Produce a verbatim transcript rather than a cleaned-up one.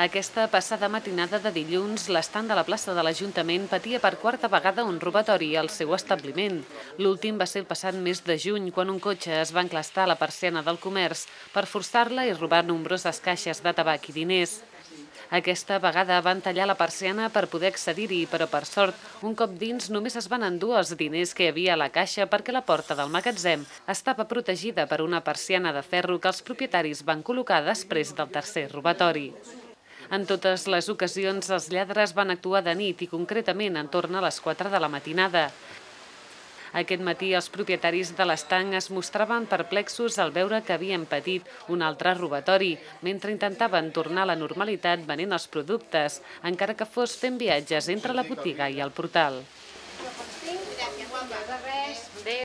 Aquesta passada matinada de dilluns, l'estand de la plaça de l'Ajuntament patia per quarta vegada un robatori al seu establiment. L'últim va ser el passat mes de juny, quan un cotxe es va enclastar a la persiana del comerç per forçar-la i robar nombroses caixes de tabac i diners. Aquesta vegada van tallar la persiana per poder accedir-hi, però per sort, un cop dins només es van endur els diners que hi havia a la caixa perquè la porta del magatzem estava protegida per una persiana de ferro que els propietaris van col·locar després del tercer robatori. En totes les ocasions, els lladres van actuar de nit i concretament en torn a les quatre de la matinada. Aquest matí els propietaris de l'estanc es mostraven perplexos al veure que havien patit un altre robatori, mentre intentaven tornar a la normalitat venent els productes, encara que fos fent viatges entre la botiga i el portal.